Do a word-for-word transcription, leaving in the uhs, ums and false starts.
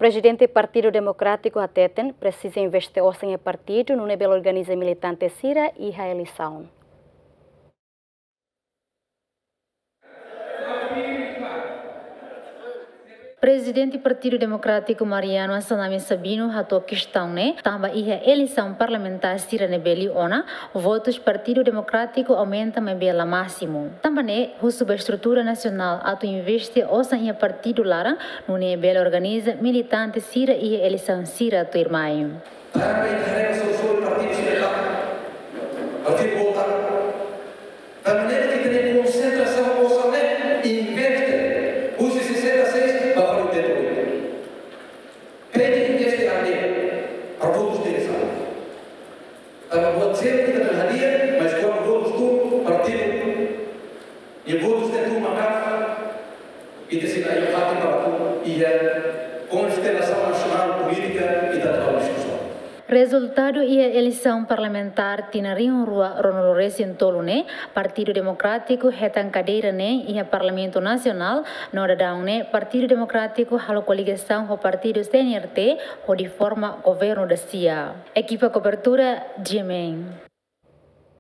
Prezidente Partidu Demokrátiku hateten presiza investe osan iha partidu nune'e bele organiza militante sira iha eleisaun. Prezidente Partidu Demokrátiku Mariano Assanami Sabino hato'o kestaun ne'e tanba iha eleisaun parlamentár sira ne'ebé liu ona, votus Partidu Demokrátiku aumenta maibé la másimu. Tanba ne'e husu ba estrutura nasionál atu investe osan iha partidu laran nune'e bele organiza militante sira iha eleisaun sira tuirmai. Tanba ita haree solusaun partidu sira, partidu volta. Tanba ne'e ita-nia konsentrasaun osan ne'e investe husi sesenta e seis ba fali oitenta e oito. Pede investe ande, para votus de eleisaun. Tanba buat seluk ita hadi'a, mas kuandu votus tuun, partidu, i votus ne'e tuun maka'as, ita sei la iha fatin para atu iha konstelasaun nasionál polítika ita atu diskusaun. Rezultadu iha eleisaun parlamentár tinan rihun rua ruanulu resin tolu ne'e, Partidu Demokrátiku hetan kadeira neen iha Parlamentu Nasionál, no daudaun ne'e Partidu Demokrátiku halo koligasaun ho partidu C N R T hodi forma governu da-sia. Ekipa kobertura, G M N.